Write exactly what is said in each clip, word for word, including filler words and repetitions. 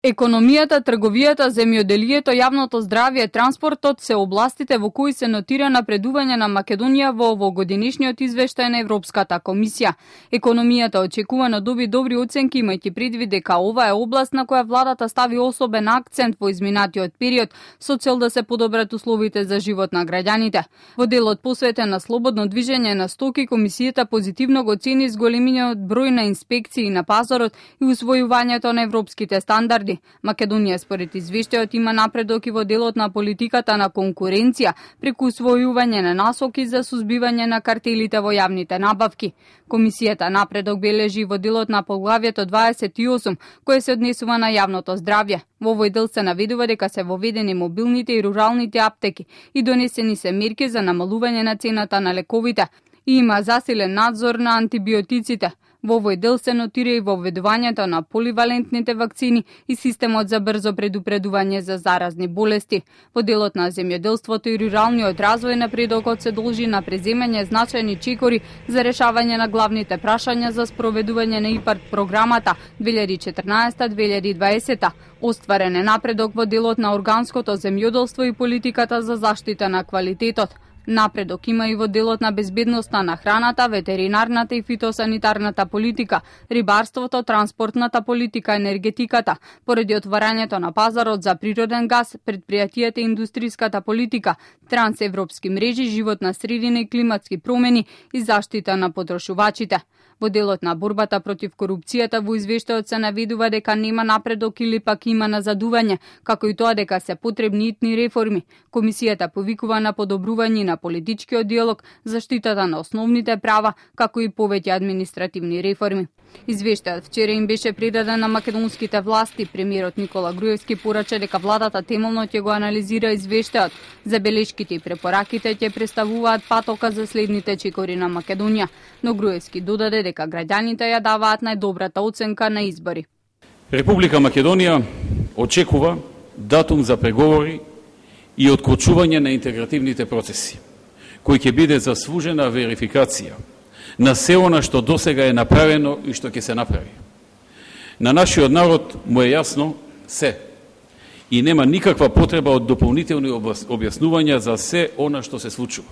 Економијата, трговијата, земјоделието, јавното здравје, транспортот се областите во кои се нотира напредување на Македонија во овогодишниот извештај на Европската комисија. Економијата очекувано доби добри оценки, имајќи предвид дека ова е област на која владата стави особен акцент во изминатиот период со цел да се подобрат условите за живот на граѓаните. Во делот посветен на слободно движење на стоки, комисијата позитивно го цени зголемениот број на инспекции на пазарот и усвојувањето на европските стандарди. Македонија според извештајот има напредок и во делот на политиката на конкуренција преку усвојување на насоки за сузбивање на картелите во јавните набавки. Комисијата напредок бележи во делот на поглавјето дваесет и осум, кое се однесува на јавното здравје. Во овој дел се наведува дека се воведени мобилните и руралните аптеки и донесени се мерки за намалување на цената на лековите и има засилен надзор на антибиотиците. Во овој дел се нотира и воведувањето на поливалентните вакцини и системот за брзо предупредување за заразни болести. Во делот на земјоделството и руралниот развој напредокот се должи на преземање значајни чекори за решавање на главните прашања за спроведување на ИПАРД програмата две илјади и четрнаесета до две илјади и дваесета. Остварен е напредок во делот на органското земјоделство и политиката за заштита на квалитетот. Напредок има и во делот на безбедноста на храната, ветеринарната и фитосанитарната политика, рибарството, транспортната политика, енергетиката, поради отварањето на пазарот за природен газ, предпријатијата и индустриската политика, трансевропски мрежи, животна средина и климатски промени и заштита на потрошувачите. Во делот на борбата против корупцијата во извештајот се наведува дека нема напредок или пак има назадување, како и тоа дека се потребни итни реформи. Комисијата повикува на подобрување на политичкиот диалог, заштитата на основните права, како и повеќе административни реформи. Извештајот вчера им беше предаден на македонските власти. Премиерот Никола Груевски порача дека владата темелно ќе го анализира извештајот. Забелешките и препораките ќе представуваат патока за следните чекори на Македонија, но Груевски додаде дека граѓаните ја даваат најдобрата оценка на избори. Република Македонија очекува датум за преговори и откочување на интегративните процеси, кој ќе биде заслужена верификација на се она што досега е направено и што ќе се направи. На нашиот народ му е јасно се и нема никаква потреба од дополнителни објаснувања за се она што се случува.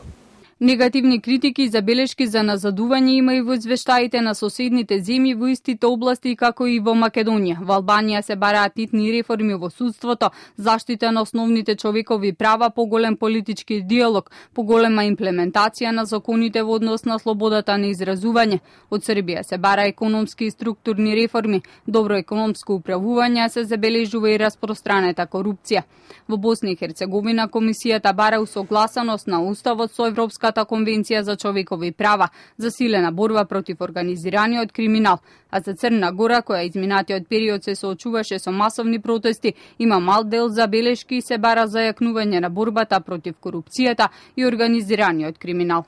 Негативни критики и забелешки за назадување има и во извештаите на соседните земји во истите области како и во Македонија. Во Албанија се бараат итни реформи во судството, заштита на основните човекови права, поголем политички диалог, поголема имплементација на законите во однос на слободата на изразување. Од Србија се бара економски и структурни реформи, добро економско управување, се забележува и распространета корупција. Во Босна и Херцеговина комисијата бара усогласаност на уставот со Европска конвенција за човекови права, засилена борба против организираниот криминал, а за Црна Гора, која изминатиот период се соочуваше со масовни протести, има мал дел забелешки и се бара зајакнување на борбата против корупцијата и организираниот криминал.